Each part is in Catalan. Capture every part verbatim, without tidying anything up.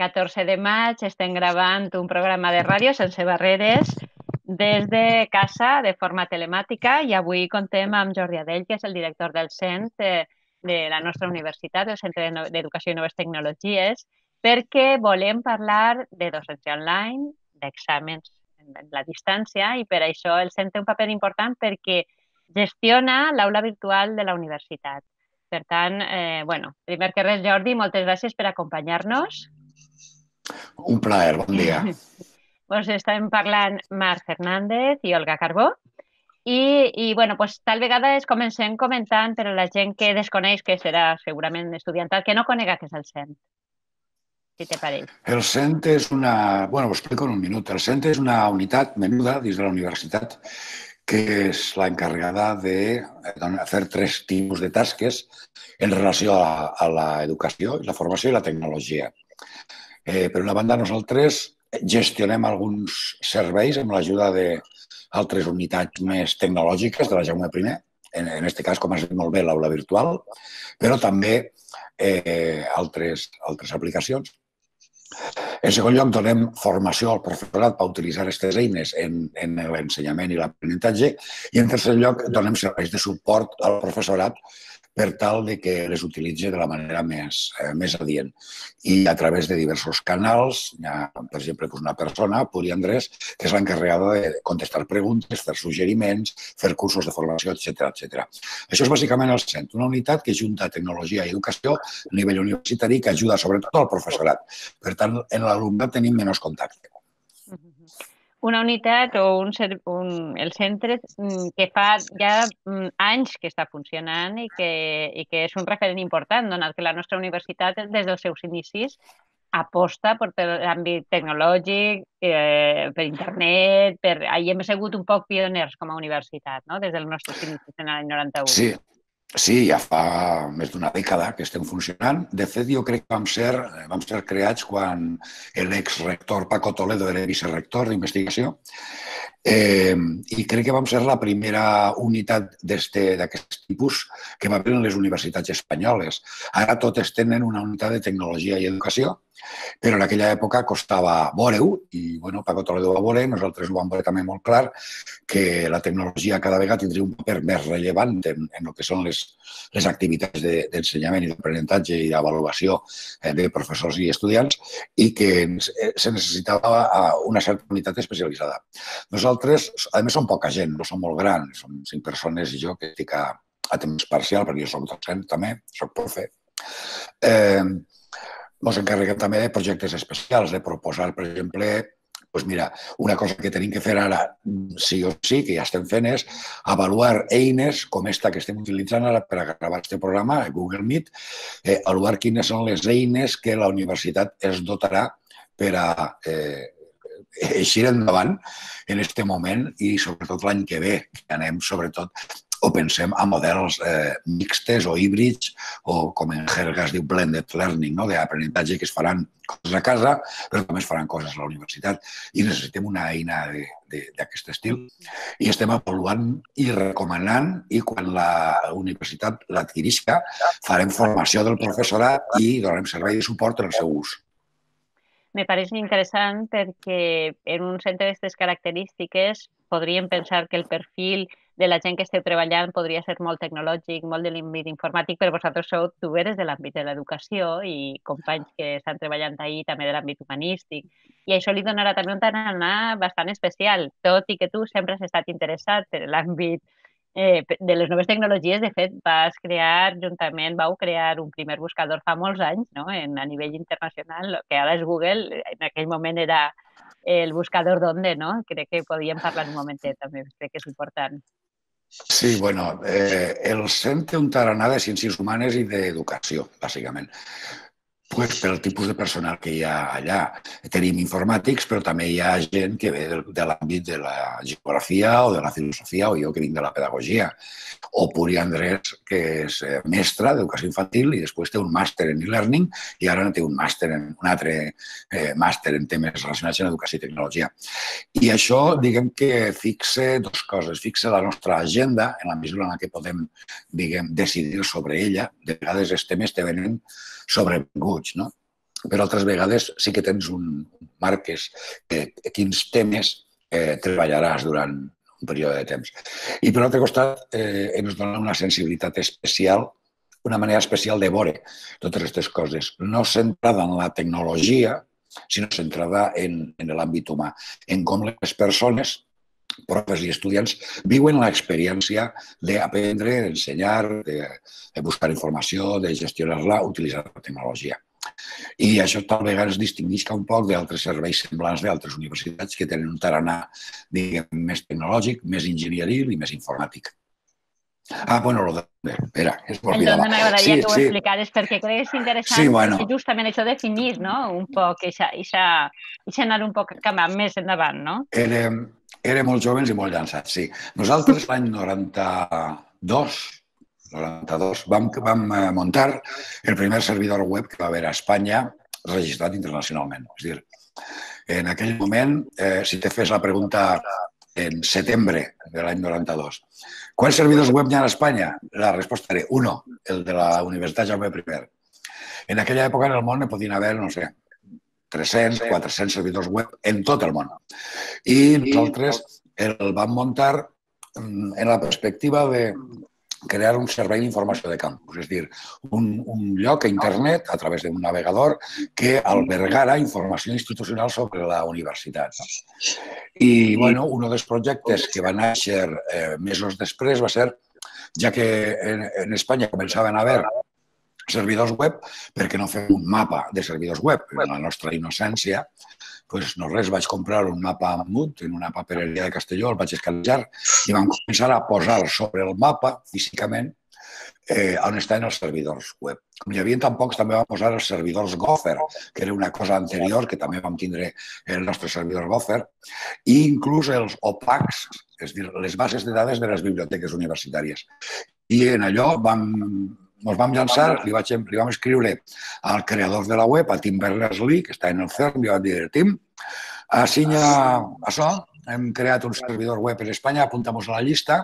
catorze de maig estem gravant un programa de ràdio sense barreres des de casa de forma telemàtica i avui contem amb Jordi Adell, que és el director del C E N T de, de la nostra universitat, el Centre d'Educació i Noves Tecnologies, perquè volem parlar de docència online, d'exàmens en la distància i per això el C E N té un paper important perquè gestiona l'aula virtual de la universitat. Per tant, eh, bueno, primer que res, Jordi, moltes gràcies per acompanyar-nos. Un plaer, bon dia. Pues estem parlant Marc Fernández i Olga Carbó. I, i bueno, pues, tal vegada es comencem comentant per a la gent que desconeix, que serà segurament estudiantal, que no conega què és el C E N T, si te pareix. El C E N T és una... Bueno, ho explico en un minut. El C E N T és una unitat menuda dins de la universitat que és la encarregada de fer tres tipus de tasques en relació a, a l'educació, la formació i la tecnologia. Eh, per una banda, nosaltres gestionem alguns serveis amb l'ajuda d'altres unitats més tecnològiques de la Jaume primer, en aquest cas, com has dit molt bé, l'aula virtual, però també eh, altres, altres aplicacions. En segon lloc, donem formació al professorat per utilitzar aquestes eines en, en l'ensenyament i l'aprenentatge i, en tercer lloc, donem serveis de suport al professorat per tal de que les utilitzi de la manera més, eh, més adient. I a través de diversos canals, hi ha, per exemple, una persona, Puri Andrés, que és l'encarregada de contestar preguntes, fer suggeriments, fer cursos de formació, etcètera, etcètera. Això és bàsicament el C E N T, una unitat que junta tecnologia i educació a nivell universitari que ajuda sobretot al professorat. Per tant, en l'alumnat tenim menys contacte. Una unitat o un, un, el centre que fa ja anys que està funcionant i que, i que és un referent important, donat que la nostra universitat des dels seus inicis aposta per l'àmbit tecnològic, eh, per internet, per... Ahí hem sigut un poc pioners com a universitat, no? Des dels nostres inicis en l'any noranta-u. Sí. Sí, ja fa més d'una dècada que estem funcionant. De fet, jo crec que vam ser, vam ser creats quan l'exrector Paco Toledo era vicerector d'investigació eh, i crec que vam ser la primera unitat d'aquest tipus que va haver en les universitats espanyoles. Ara totes tenen una unitat de tecnologia i educació, però en aquella època costava veure-ho i bueno, Paco Toledo va veure, nosaltres ho vam veure també molt clar, que la tecnologia cada vegada tindria un paper més rellevant en, en el que són les, les activitats d'ensenyament i d'aprenentatge i d'avaluació de professors i estudiants i que se necessitava una certa unitat especialitzada. Nosaltres, a més, som poca gent, no som molt grans, som cinc persones i jo que estic a, a temps parcial, perquè jo soc docent també, soc profe. Eh, ens encarreguem també de projectes especials, de proposar, per exemple, doncs mira, una cosa que tenim que fer ara, sí o sí, que ja estem fent, és avaluar eines com esta que estem utilitzant ara per a gravar aquest programa, Google Meet, eh, avaluar quines són les eines que la universitat es dotarà per a eh, eixir endavant en aquest moment i sobretot l'any que ve, que anem sobretot o pensem a models eh, mixtes o híbrids o com en jerga es diu blended learning, no? D'aprenentatge que es faran coses a casa però també es faran coses a la universitat i necessitem una eina d'aquest estil i estem avaluant i recomanant i quan la universitat l'adquirisca farem formació del professorat i donarem servei de suport en el seu ús. Me pareix interessant perquè en un centre d'aquestes característiques podríem pensar que el perfil de la gent que esteu treballant podria ser molt tecnològic, molt de l'àmbit informàtic, però vosaltres sou, tu eres de l'àmbit de l'educació i companys que estan treballant ahí també de l'àmbit humanístic. I això li donarà també un tarannà bastant especial, tot i que tu sempre has estat interessat per l'àmbit eh, de les noves tecnologies. De fet, vas crear, juntament, vau crear un primer buscador fa molts anys, no? En, a nivell internacional, que ara és Google, en aquell moment era el buscador d'onde, no? Crec que podíem parlar un momentet també, crec que és important. Sí, bueno, eh, el C E N té un tarannà de ciències humanes i d'educació, bàsicament. Pues pel tipus de personal que hi ha allà. Tenim informàtics, però també hi ha gent que ve de, de l'àmbit de la geografia o de la filosofia, o jo que vinc de la pedagogia. O Puri Andrés, que és mestra d'educació infantil i després té un màster en e-learning i ara té un màster en un altre eh, màster en temes relacionats amb educació i tecnologia. I això, diguem que fixa dues coses. Fixa la nostra agenda en la mesura en la que podem, diguem, decidir sobre ella. De vegades els temes te venen sobrevinguts, no? però altres vegades sí que tens un marques eh, quins temes eh, treballaràs durant un període de temps. I per l'altre costat eh, ens dona una sensibilitat especial, una manera especial de veure totes aquestes coses, no centrada en la tecnologia, sinó centrada en, en l'àmbit humà, en com les persones, profes i estudiants, viuen l'experiència d'aprendre, d'ensenyar, de, de buscar informació, de gestionar-la utilitzant la tecnologia. I això tal vegada es distingeix un poc d'altres serveis semblants d'altres universitats que tenen un tarannà, diguem, més tecnològic, més enginyeril i més informàtic. Ah, bueno, lo de... Espera, es m'oblidava. El d'on m'agradaria Sí, que ho sí. explicares, perquè crec que és interessant, Sí, bueno. perquè justament això definir, no?, un poc, i anar un poc cap més endavant, no? Érem, érem molt joves i molt llançats, sí. Nosaltres l'any noranta-dos, noranta-dos vam, vam muntar el primer servidor web que va haver a Espanya registrat internacionalment. És a dir, en aquell moment, eh, si te fes la pregunta en setembre de l'any noranta-dos, quants servidors web hi ha a Espanya? La resposta era uno, el de la Universitat Jaume I. En aquella època en el món ne podien haver, no sé, tres-cents, quatre-cents servidors web en tot el món. I nosaltres el vam muntar en la perspectiva de crear un servei d'informació de campus, és a dir, un, un lloc a internet, a través d'un navegador, que albergara informació institucional sobre la universitat. I, bueno, un dels projectes que va néixer eh, mesos després va ser, ja que en, en Espanya començaven a haver servidors web, perquè no fem un mapa de servidors web. En la nostra innocència, doncs no res, vaig comprar un mapa Mut en una papereria de Castelló, el vaig escanejar i vam començar a posar sobre el mapa, físicament, eh, on estan els servidors web. Com hi havia tan pocs, també vam posar els servidors Gopher, que era una cosa anterior, que també vam tindre el nostre servidor Gopher, i inclús els opacs, és a dir, les bases de dades de les biblioteques universitàries. I en allò vam ens vam llançar, li, vaig, li vam escriure al creador de la web, a Tim Berners-Lee, que està en el CERN, li vam dir, Tim, assinya això, hem creat un servidor web en Espanya, apuntamos a la llista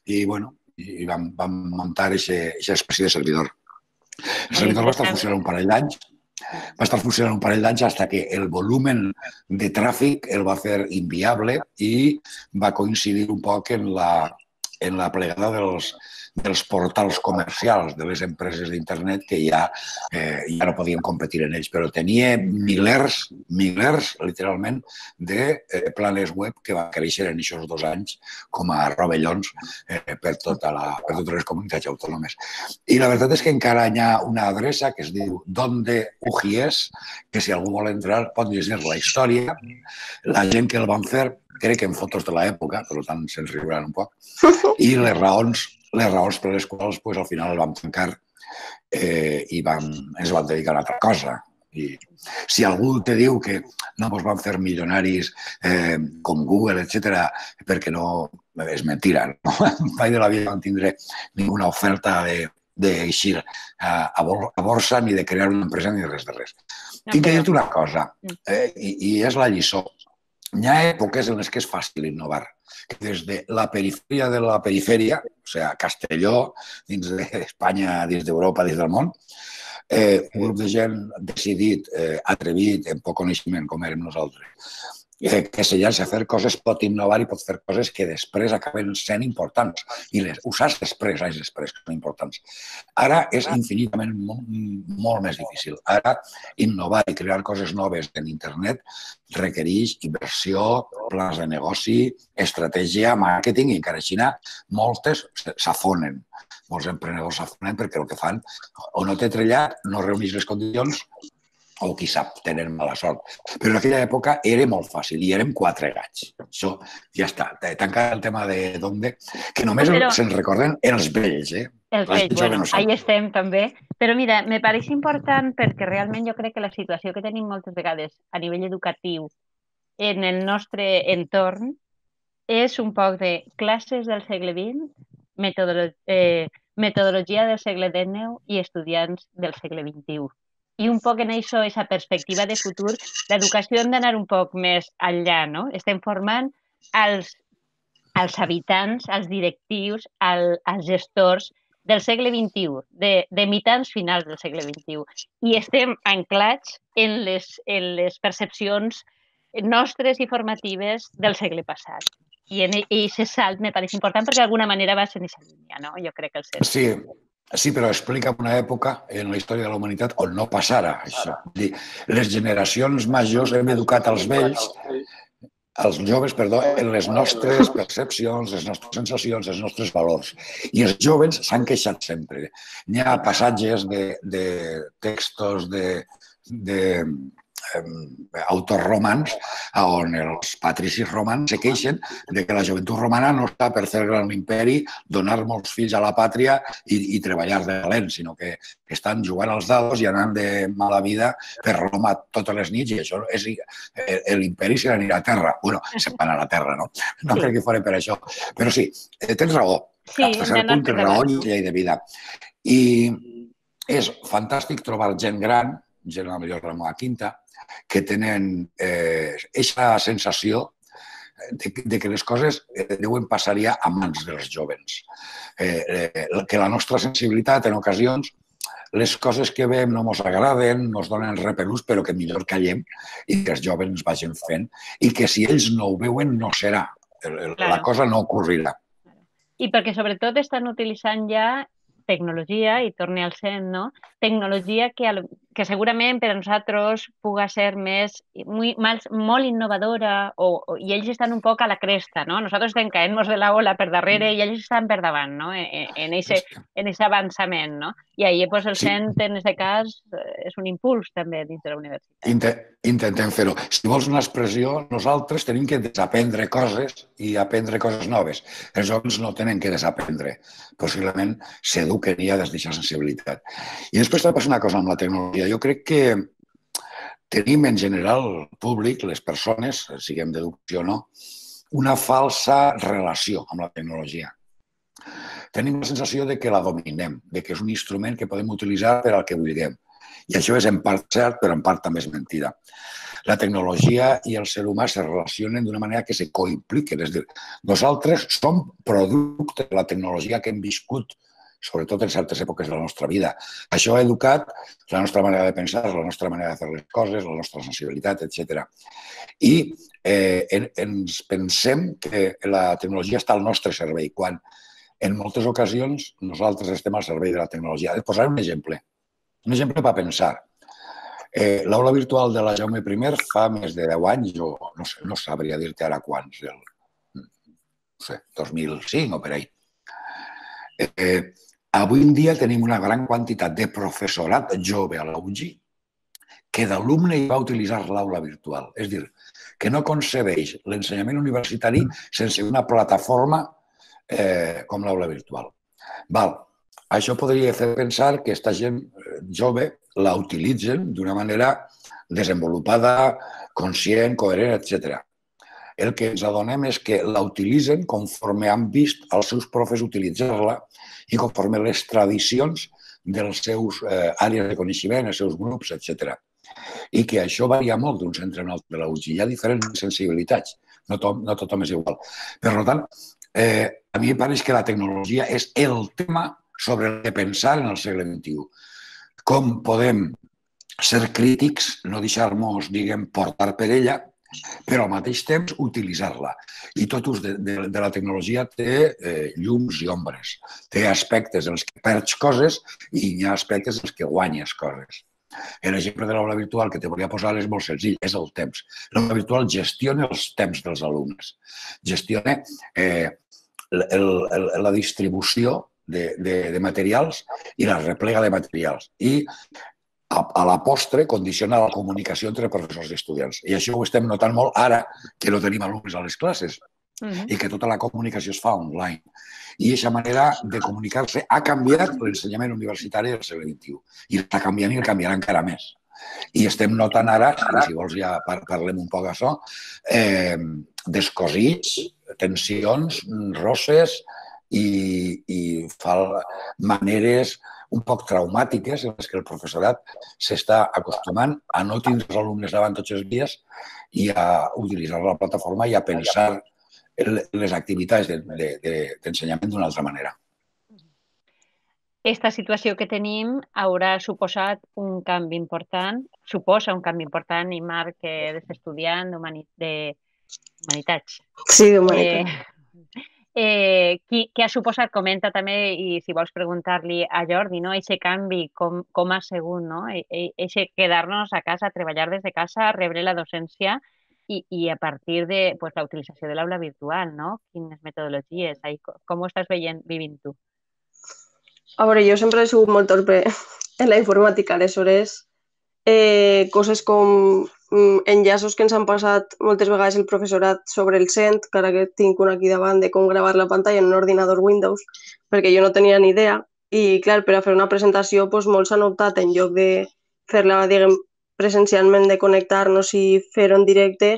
i, bueno, i vam, vam muntar aquesta espècie de servidor. El servidor va estar funcionant un parell d'anys, va estar funcionant un parell d'anys fins que el volumen de tràfic el va fer inviable i va coincidir un poc en la, en la plegada dels dels portals comercials de les empreses d'internet que ja, eh, ja no podien competir en ells, però tenia milers, milers, literalment, de eh, planes web que van créixer en aquests dos anys com a rovellons eh, per, tota la, per totes les comunitats autònomes. I la veritat és que encara hi ha una adreça que es diu Donde U G I E S, que si algú vol entrar pot llegir la història. La gent que el van fer, crec que en fotos de l'època, per tant se'ns riuran un poc, i les raons les raons per les quals pues, al final el vam tancar eh, i vam, ens vam dedicar a una altra cosa. I si algú te diu que no ens van fer milionaris eh, com Google, etcètera, perquè no... És mentira, no? Mai de la vida vam tindre ninguna oferta d'eixir a, a borsa ni de crear una empresa ni de res de res. No, Tinc que dir-te una cosa, eh, i, i és la lliçó. Hi ha èpoques en les que és fàcil innovar. Des de la perifèria de la perifèria, o sigui, Castelló, dins d'Espanya, dins d'Europa, dins del món, eh, un grup de gent decidit, eh, atrevit, amb poc coneixement, com érem nosaltres, eh, que se llança a fer coses, pot innovar i pot fer coses que després acaben sent importants i les usars després, anys després, que són importants. Ara és infinitament molt, molt més difícil. Ara innovar i crear coses noves en internet requereix inversió, plans de negoci, estratègia, màrqueting, i encara així moltes s'afonen. Molts emprenedors s'afonen perquè el que fan o no té trellat, no reuneix les condicions, o qui sap, tenen mala sort. Però en aquella època era molt fàcil i érem quatre gats. Això ja està. Tancar el tema de d'onde, que només Però... se'n recorden els vells, eh? Els vells, bueno, no ahí estem també. Però mira, me pareix important perquè realment jo crec que la situació que tenim moltes vegades a nivell educatiu en el nostre entorn és un poc de classes del segle vint, metodolo eh, metodologia del segle dinou i estudiants del segle vint-i-u. I un poc en això, aquesta perspectiva de futur, l'educació hem d'anar un poc més enllà, no? Estem formant els, els habitants, els directius, el, els gestors del segle vint-i-u, de, de mitjans finals del segle vint-i-u, i estem anclats en les, en les percepcions nostres i formatives del segle passat. I en aquest salt me pareix important perquè d'alguna manera va ser en aquesta línia, no? Jo crec que el C E S. Sí, sí, però explica una època en la història de la humanitat on no passara això. Dir, les generacions majors hem educat els vells, els joves, perdó, en les nostres percepcions, les nostres sensacions, els nostres valors. I els joves s'han queixat sempre. Hi ha passatges de, de textos de, de eh, autors romans on els patricis romans se queixen de que la joventut romana no està per fer gran imperi, donar molts fills a la pàtria i, i treballar de valent, sinó que estan jugant als dados i anant de mala vida per Roma totes les nits, i això és l'imperi se n'anirà a terra. Bueno, se'n va anar a terra, no? No sí. crec que fos per això. Però sí, tens raó. Sí, fins a cert punt tens raó i llei de vida. I és fantàstic trobar gent gran, gent a la millor de la meva quinta, que tenen aquesta eh, sensació de, de que les coses eh, deuen passar ja a mans dels jovens. Eh, eh, que la nostra sensibilitat, en ocasions, les coses que veiem no ens agraden, no ens donen repelús, però que millor callem i que els jovens vagin fent i que si ells no ho veuen no serà. La claro. cosa no ocorrirà. I perquè sobretot estan utilitzant ja tecnologia, i torni al cent, no? Tecnologia que, que segurament per a nosaltres puga ser més, muy, más, molt innovadora o, o, i ells estan un poc a la cresta, no? Nosaltres estem caent-nos de la ola per darrere i ells estan per davant, no? En aquest avançament, no? I ahir pues, el sí. cent, en aquest cas, és un impuls també dins de la universitat. Inter Intentem fer-ho. Si vols una expressió, nosaltres tenim que desaprendre coses i aprendre coses noves. Els joves no tenen que desaprendre. Possiblement s'eduquen ja des d'aquesta sensibilitat. I després també passa una cosa amb la tecnologia. Jo crec que tenim en general públic, les persones, siguem d'educació o no, una falsa relació amb la tecnologia. Tenim la sensació de que la dominem, de que és un instrument que podem utilitzar per al que vulguem. I això és en part cert, però en part també és mentida. La tecnologia i el ser humà se relacionen d'una manera que se coimpliquen. És a dir, nosaltres som producte de la tecnologia que hem viscut, sobretot en certes èpoques de la nostra vida. Això ha educat la nostra manera de pensar, la nostra manera de fer les coses, la nostra sensibilitat, etcètera. I eh, en, ens pensem que la tecnologia està al nostre servei, quan en moltes ocasions nosaltres estem al servei de la tecnologia. Et posaré un exemple. Un exemple per pensar. Eh, L'aula virtual de la Jaume I fa més de deu anys, o no sé, no sabria dir-te ara quants, el, no sé, dos mil cinc o per ahí. Eh, avui en dia tenim una gran quantitat de professorat jove a la U G I que d'alumne hi va utilitzar l'aula virtual. És a dir, que no concebeix l'ensenyament universitari sense una plataforma eh, com l'aula virtual. Val. Això podria fer pensar que aquesta gent jove la utilitzen d'una manera desenvolupada, conscient, coherent, etcètera. El que ens adonem és que la utilitzen conforme han vist els seus profes utilitzar-la i conforme les tradicions dels seus eh, àrees de coneixement, els seus grups, etcètera. I que això varia molt d'un centre a un altre de la U G I. Hi ha diferents sensibilitats, no, to no tothom és igual. Per tant, eh, a mi em pareix que la tecnologia és el tema sobre el que pensar en el segle vint-i-u. Com podem ser crítics, no deixar-nos, diguem, portar per ella, però al mateix temps utilitzar-la. I tot ús de, de, de la tecnologia té eh, llums i ombres. Té aspectes en els que perds coses i hi ha aspectes en els que guanyes coses. L'exemple de l'aula virtual que te volia posar és molt senzill, és el temps. L'aula virtual gestiona els temps dels alumnes. Gestiona eh, el, el, la distribució De, de, de materials i la replega de materials. I a, a la postre condiciona la comunicació entre professors i estudiants. I això ho estem notant molt ara que no tenim alumnes a les classes uh-huh. i que tota la comunicació es fa online. I aquesta manera de comunicar-se ha canviat l'ensenyament universitari del segle vint-i-u. I està canviant i el canviarà encara més. I estem notant ara, si vols ja parlem un poc d'això, eh, descosits, tensions, rosses, i, i fa maneres un poc traumàtiques en les que el professorat s'està acostumant a no tindre els alumnes davant tots els dies i a utilitzar la plataforma i a pensar les activitats d'ensenyament d'una altra manera. esta situació que tenim haurà suposat un canvi important, suposa un canvi important, i Marc, que és estudiant d'Humanitats. Sí, Eh, d'Humanitats. eh, qui, què ha suposat? Comenta també, i si vols preguntar-li a Jordi, no? Eixe canvi, com, com ha sigut, no? Eixe quedar-nos a casa, treballar des de casa, rebre la docència i, i a partir de pues, la utilització de l'aula virtual, no? Quines metodologies, ahí, com ho estàs veient, vivint tu? A veure, jo sempre he sigut molt torpe en la informàtica, aleshores eh, coses com mm, enllaços que ens han passat moltes vegades el professorat sobre el cent, que ara que tinc un aquí davant de com gravar la pantalla en un ordinador Windows, perquè jo no tenia ni idea, i clar, per a fer una presentació doncs, molts han optat en lloc de fer-la, diguem, presencialment, de connectar-nos i fer-ho en directe,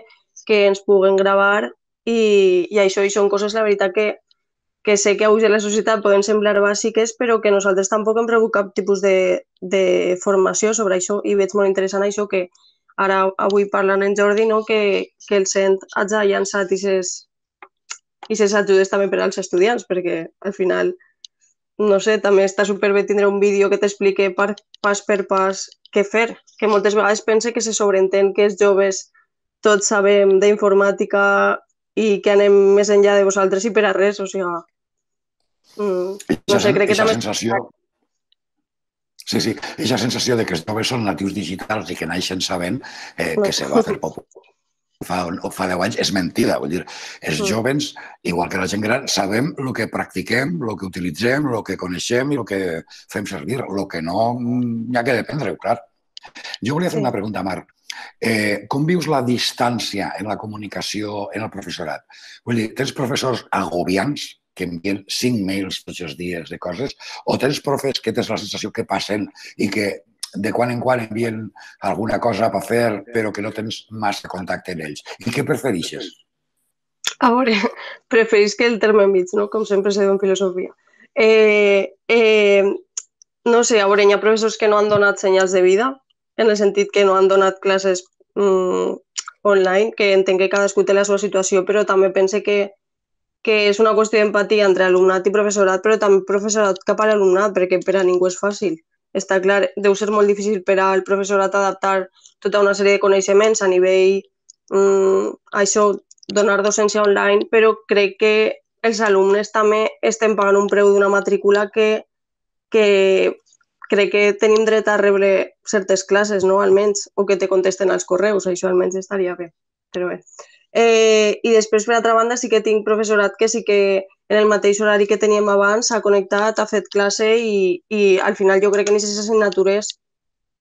que ens puguen gravar, i, i això i són coses, la veritat, que que sé que avui a la societat poden semblar bàsiques, però que nosaltres tampoc hem rebut cap tipus de, de formació sobre això, i veig molt interessant això que ara avui parlant en Jordi, no? que, que el cent hagi llançat i ses ajudes també per als estudiants, perquè al final, no sé, també està superbé tindre un vídeo que t'explique pas per pas què fer, que moltes vegades pense que se sobreentén que els joves tots sabem d'informàtica i que anem més enllà de vosaltres i per a res, o sigui, mm, no sé, crec que també... Sensació... Sí, sí, aquesta sensació de que els joves són natius digitals i que naixen sabent eh, que se va fer popular fa, o fa deu anys és mentida. Vull dir, els joves, igual que la gent gran, sabem el que practiquem, el que utilitzem, el que coneixem i el que fem servir. El que no, n'hi ha que dependre, clar. Jo volia fer una pregunta, Marc. Eh, com vius la distància en la comunicació en el professorat? Vull dir, tens professors agobiants que envien cinc mails tots els dies de coses, o tens profes que tens la sensació que passen i que de quan en quan envien alguna cosa per fer, però que no tens massa contacte amb ells? I què prefereixes? A veure, preferís que el terme mig, no? Com sempre se diu en filosofia. Eh, eh, no sé, a veure, hi ha professors que no han donat senyals de vida, en el sentit que no han donat classes mm, online, que entenc que cadascú té la seva situació, però també pense que, que és una qüestió d'empatia entre alumnat i professorat, però també professorat cap a l'alumnat, perquè per a ningú és fàcil. Està clar, deu ser molt difícil per al professorat adaptar tota una sèrie de coneixements a nivell, mm, això, donar docència online, però crec que els alumnes també estem pagant un preu d'una matrícula que, que crec que tenim dret a rebre certes classes, no? Almenys, o que te contesten als correus, això almenys estaria bé, però bé. Eh, I després, per altra banda, sí que tinc professorat que sí que en el mateix horari que teníem abans s'ha connectat, ha fet classe i, i al final jo crec que aquestes assignatures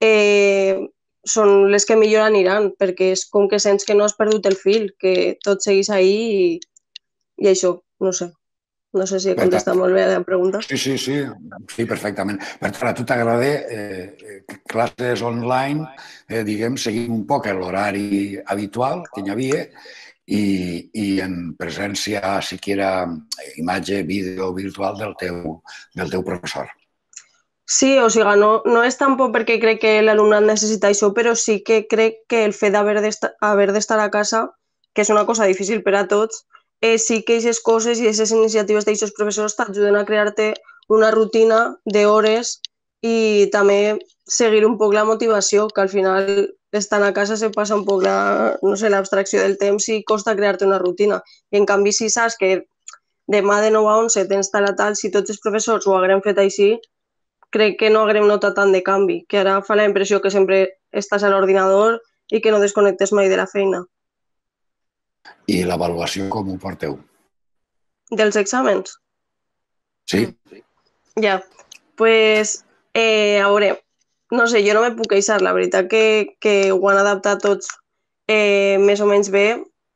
eh, són les que millor aniran, perquè és com que sents que no has perdut el fil, que tot seguís ahí i, i això, no sé. No sé si he contestat molt bé a la pregunta. Sí, sí, sí, sí, perfectament. Per tant, a tu t'agrada eh, classes online, eh, diguem, seguint un poc l'horari habitual que hi havia i, i en presència, siquiera, imatge, vídeo virtual del teu, del teu professor. Sí, o sigui, no, no és tampoc perquè crec que l'alumnat necessita això, però sí que crec que el fet d'haver d'estar a casa, que és una cosa difícil per a tots, eh, sí que aquestes coses i aquestes iniciatives d'aquests professors t'ajuden a crear-te una rutina d'hores i també seguir un poc la motivació, que al final estant a casa se passa un poc la, no sé, l'abstracció del temps i costa crear-te una rutina. I en canvi, si saps que demà de nou a onze tens tal a tal, si tots els professors ho haguem fet així, crec que no haguem notat tant de canvi, que ara fa la impressió que sempre estàs a l'ordinador i que no desconnectes mai de la feina. I l'avaluació com ho porteu? Dels exàmens? Sí. Ja, pues, eh, a veure, no sé, jo no me puc queixar, la veritat que, que ho han adaptat tots eh, més o menys bé.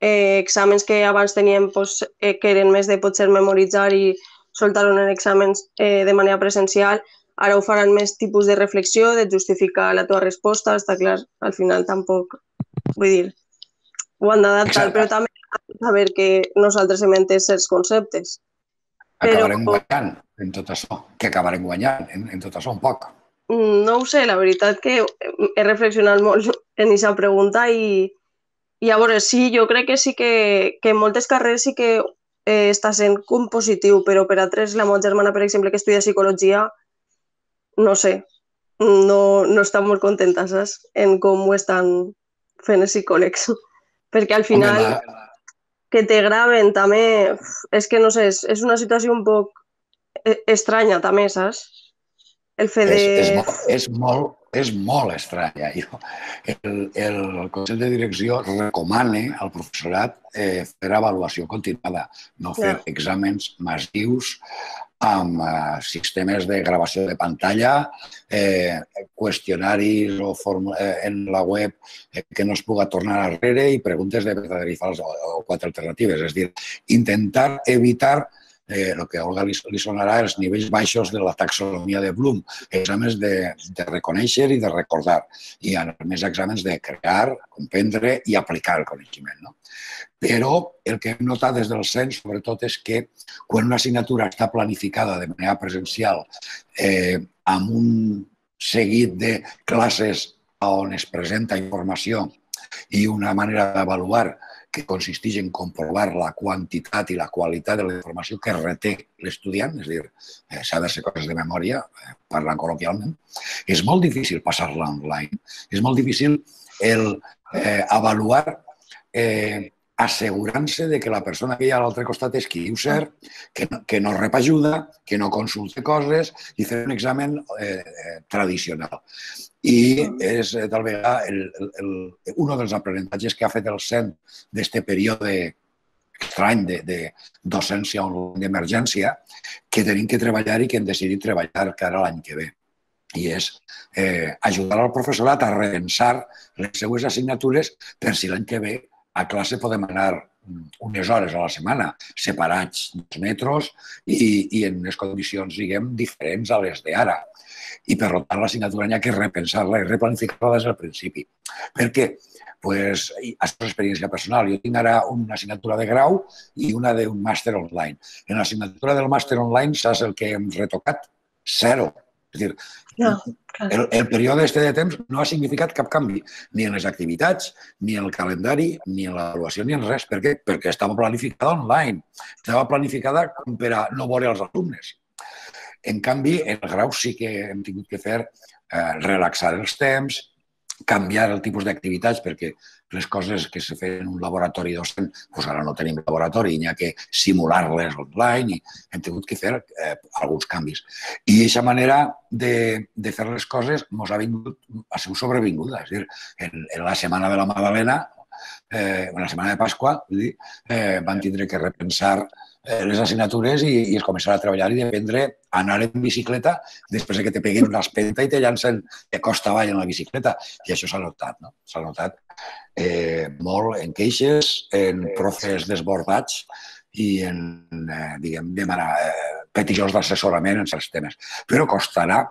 Eh, exàmens que abans teníem pues, eh, que eren més de potser memoritzar i soltar-ho en exàmens eh, de manera presencial, ara ho faran més tipus de reflexió, de justificar la teva resposta, està clar, al final tampoc, vull dir, ho han d'adaptar, però també saber que nosaltres hem entès certs conceptes. Acabarem guanyant en tot això, que acabarem guanyant en, en tot això un poc. No ho sé, la veritat que he reflexionat molt en aquesta pregunta i, i a veure, sí, jo crec que sí que, que en moltes carreres sí que eh, està sent com positiu, però per altres, la meva germana, per exemple, que estudia psicologia, no sé, no, no estan molt contentes, saps? En com ho estan fent els psicòlegs. Perquè al Home, final la, que te graven també, uf, és que no sé, és, és una situació un poc eh, estranya també, saps? El fet de... és, és, molt, és, molt, és molt estranya. Jo, el, el, el Consell de Direcció recomana al professorat eh, fer avaluació continuada, no fer Ja. exàmens massius amb eh, sistemes de gravació de pantalla, eh, qüestionaris o form- eh, en la web eh, que no es puga tornar enrere i preguntes de verdadera i fals o, o quatre alternatives. És a dir, intentar evitar eh, el que a Olga li, li sonarà els nivells baixos de la taxonomia de Bloom, exàmens de, de reconèixer i de recordar, i a més exàmens de crear, comprendre i aplicar el coneixement. No? Però el que hem notat des del cens, sobretot, és que quan una assignatura està planificada de manera presencial eh, amb un seguit de classes on es presenta informació i una manera d'avaluar que consisteix en comprovar la quantitat i la qualitat de la informació que reté l'estudiant, és a dir, eh, saber-se coses de memòria, eh, parlant col·loquialment, és molt difícil passar-la online. És molt difícil el eh, avaluar eh, assegurant-se de que la persona que hi ha a l'altre costat és qui diu ser, que no, que no rep ajuda, que no consulte coses i fer un examen eh, tradicional. I és, tal vegada, el, el, el, un dels aprenentatges que ha fet el C E N d'aquest període estrany de, de docència online d'emergència que tenim que treballar i que hem decidit treballar cara l'any que ve. I és eh, ajudar al professorat a repensar les seues assignatures per si l'any que ve a classe podem anar unes hores a la setmana, separats dos metres i, i en unes condicions, diguem, diferents a les d'ara. I, per tant, l'assignatura hi ha que repensar-la i replanificar-la des del principi. Per què? Pues, això és experiència personal. Jo tinc ara una assignatura de grau i una d'un màster online. En l'assignatura del màster online, saps el que hem retocat? Zero. És a dir, Ja, el, el període este de temps no ha significat cap canvi, ni en les activitats, ni en el calendari, ni en l'avaluació, ni en res. Per què? Perquè estava planificada online. Estava planificada per a no veure els alumnes. En canvi, en el grau sí que hem tingut que fer eh, relaxar els temps, canviar el tipus d'activitats, perquè les coses que se feien en un laboratori docent, doncs ara no tenim laboratori, n'hi ha que simular-les online i hem tingut que fer eh, alguns canvis. I aquesta manera de, de fer les coses ens ha, vingut, ha sigut sobrevinguda. És a dir, en, en la setmana de la Magdalena, eh, en la setmana de Pasqua, vull dir, eh, van tindre que repensar les assignatures i, i es començarà a treballar i dependre anar en bicicleta després que te peguen una espenta i te llancen de costa avall en la bicicleta. I això s'ha notat, no? S'ha notat eh, molt en queixes, en profes desbordats i en, eh, diguem, demanar eh, petijos d'assessorament en certs temes. Però costarà,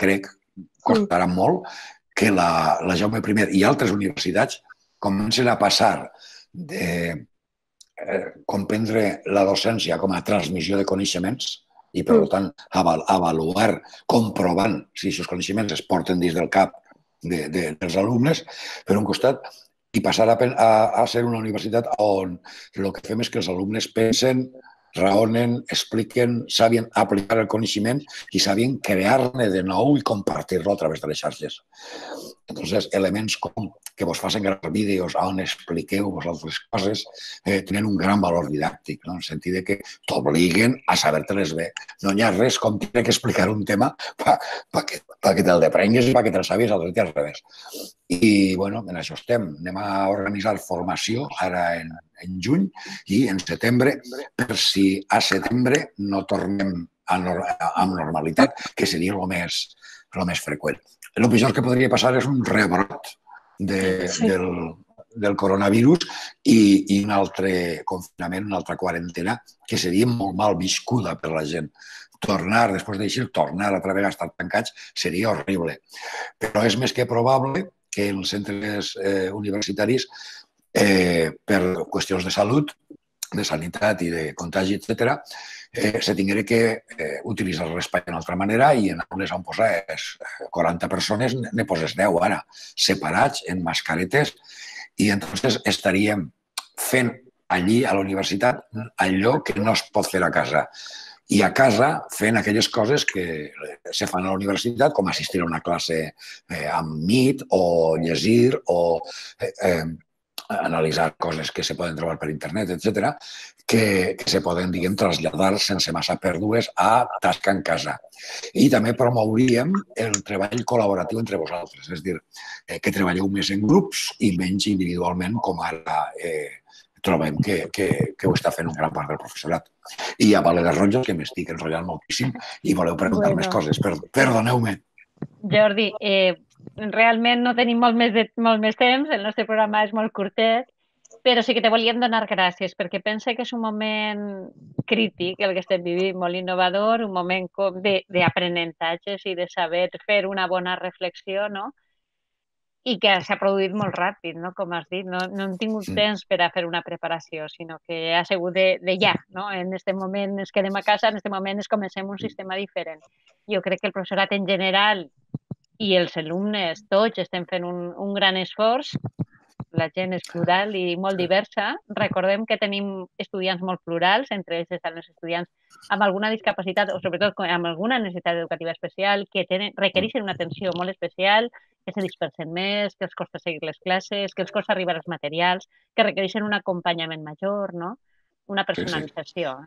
crec, costarà molt que la, la Jaume I i altres universitats comencen a passar de Eh, comprendre la docència com a transmissió de coneixements i, per tant, aval avaluar, comprovant si aquests coneixements es porten dins del cap de, de, dels alumnes, per un costat, i passar a, a, a ser una universitat on el que fem és que els alumnes pensen, raonen, expliquen, sabien aplicar el coneixement i sabien crear-ne de nou i compartir-lo a través de les xarxes. Entonces, elements com que vos facin gravar vídeos on expliqueu vosaltres coses eh, tenen un gran valor didàctic, no? En el sentit de que t'obliguen a saber-te-les bé. No hi ha res com tenir que explicar un tema per pa que, pa que te'l deprengues i perquè te'l sàpies al dret i al revés. I, bueno, en això estem. Anem a organitzar formació ara en, en juny i en setembre, per si a setembre no tornem a, a normalitat, que seria el més, el més freqüent. El pitjor que podria passar és un rebrot de, sí. del, del coronavirus i, i un altre confinament, una altra quarantena, que seria molt mal viscuda per la gent. Tornar, després d'això, tornar altra vegada a estar tancats seria horrible. Però és més que probable que en els centres eh, universitaris, eh, per qüestions de salut, de sanitat i de contagi, etcètera, eh, se tingué que eh, utilitzar l'espai d'una altra manera i en aules on poses quaranta persones ne poses deu ara, separats en mascaretes i entonces estaríem fent allí a la universitat allò que no es pot fer a casa. i a casa fent aquelles coses que se fan a la universitat, com assistir a una classe eh, amb Meet o llegir o eh, eh, analitzar coses que se poden trobar per internet, etcètera, que, que se poden, diguem, traslladar sense massa pèrdues a tasca en casa. I també promouríem el treball col·laboratiu entre vosaltres, és a dir, eh, que treballeu més en grups i menys individualment, com ara eh, trobem que, que, que ho està fent un gran part del professorat. I a Vale de Ronges, que m'estic enrotllant moltíssim i voleu preguntar bueno. més coses. Perdoneu-me. Jordi, eh, realment no tenim molt més, de, molt més temps, el nostre programa és molt curtet, però sí que te volíem donar gràcies, perquè pense que és un moment crític el que estem vivint, molt innovador, un moment d'aprenentatges i de saber fer una bona reflexió, no? I que s'ha produït molt ràpid, no? Com has dit, no, no hem tingut sí. temps per a fer una preparació, sinó que ha sigut de, de ja, no? En aquest moment ens quedem a casa, en aquest moment ens comencem un sistema diferent. Jo crec que el professorat en general i els alumnes, tots, estem fent un, un gran esforç. La gent és plural i molt diversa. Recordem que tenim estudiants molt plurals, entre ells estan els estudiants amb alguna discapacitat o sobretot amb alguna necessitat educativa especial, que tenen, requereixen una atenció molt especial, que se dispersen més, que els costa seguir les classes, que els costa arribar als materials, que requereixen un acompanyament major, no? Una personalització.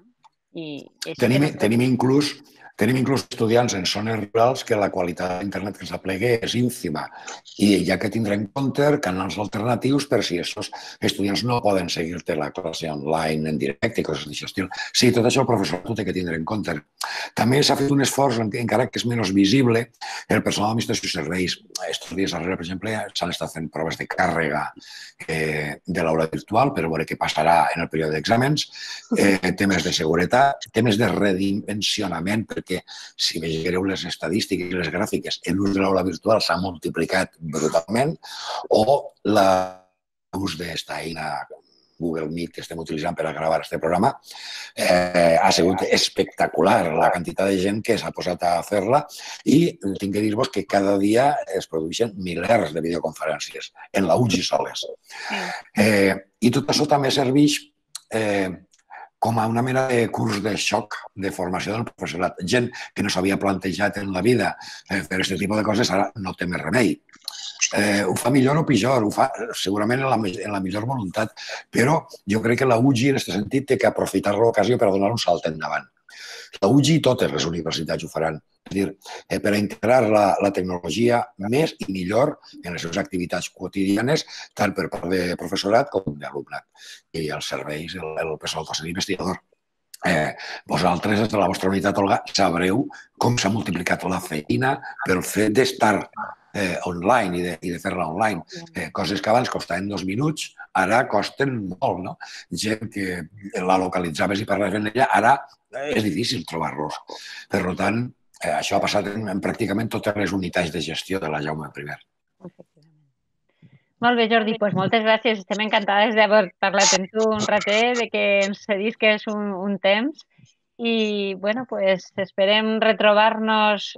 Sí, sí. I tenim, tenim, inclús, tenim inclús estudiants en zones rurals que la qualitat d'internet que s'aplegui és ínfima i ja que tindrà en compte canals alternatius per si aquests estudiants no poden seguir-te la classe online en directe i coses d'aquest estil. Sí, tot això el professor ho té que tindre en compte. També s'ha fet un esforç, encara que és menys visible, el personal d'administració i serveis. Estos dies darrere, per exemple, s'han estat fent proves de càrrega eh, de l'aula virtual per veure què passarà en el període d'exàmens, eh, temes de seguretat, temes de redimensionament, perquè si veieu les estadístiques i les gràfiques, l'ús de l'aula virtual s'ha multiplicat brutalment, o l'ús d'esta eina Google Meet que estem utilitzant per a gravar aquest programa, eh, ha sigut espectacular la quantitat de gent que s'ha posat a fer-la i tinc que dir-vos que cada dia es produeixen milers de videoconferències en la U G I soles. Eh, I tot això també serveix eh, com a una mena de curs de xoc de formació del professorat. Gent que no s'havia plantejat en la vida eh, fer aquest tipus de coses, ara no té més remei. Eh, ho fa millor o pitjor, ho fa segurament en la, en la millor voluntat, però jo crec que la U G I en aquest sentit té que aprofitar l'ocasió per a donar un salt endavant. La U G I i totes les universitats ho faran. És a dir, eh, per a integrar la, la tecnologia més i millor en les seves activitats quotidianes, tant per part de professorat com d'alumnat. I els serveis, el, el personal docent investigador. Eh, vosaltres, des de la vostra unitat, Olga, sabreu com s'ha multiplicat la feina pel fet d'estar eh, online i de, i de fer-la online. Eh, coses que abans costaven dos minuts, ara costen molt, no? Gent que la localitzaves i parlaves amb ella, ara és difícil trobar-los. Per tant, eh, això ha passat en, en pràcticament totes les unitats de gestió de la Jaume primer. Molt bé, Jordi, doncs moltes gràcies. Estem encantades d'haver parlat amb tu un ratet, de que ens cedisques un, un temps i, bueno, pues esperem retrobar-nos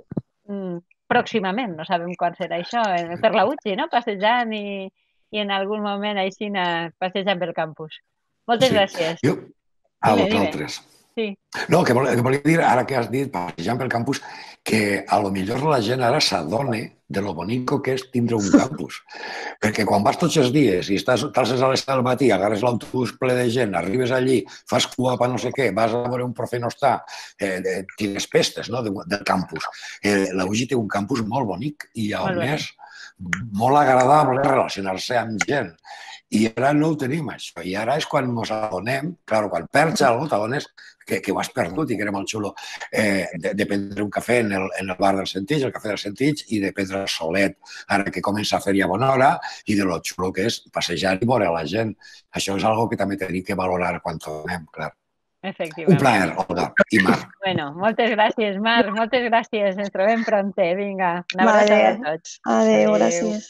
mm, pròximament. No sabem quan serà això, per la U G I, no? Passejant i, i en algun moment així passejant pel campus. Moltes sí. gràcies. Jo, a vosaltres. Sí. No, que, vol, que volia dir, ara que has dit, passejant pel campus, que a lo millor la gent ara s'adone de lo bonico que és tindre un campus. Perquè quan vas tots els dies i estàs t'alces a les set del matí, agarres l'autobús ple de gent, arribes allí, fas cua per no sé què, vas a veure un profe no està, eh, tires pestes, no?, del campus. Eh, la U G I té un campus molt bonic i a més molt agradable relacionar-se amb gent. I ara no ho tenim, això. I ara és quan ens adonem, clar, quan perds alguna cosa, t'adones que, que ho has perdut i que era molt xulo eh, de, de prendre un cafè en el, en el bar del Sentits, el cafè del Sentits, i de prendre el solet, ara que comença a fer ja bona hora, i de lo xulo que és passejar i veure la gent. Això és algo que també tenim que valorar quan tornem, clar. Efectivament. Un plaer, Olga i Marc. Bueno, moltes gràcies, Marc, moltes gràcies. Ens trobem prompte. Vinga, una abraçada a tots. Adéu, gràcies.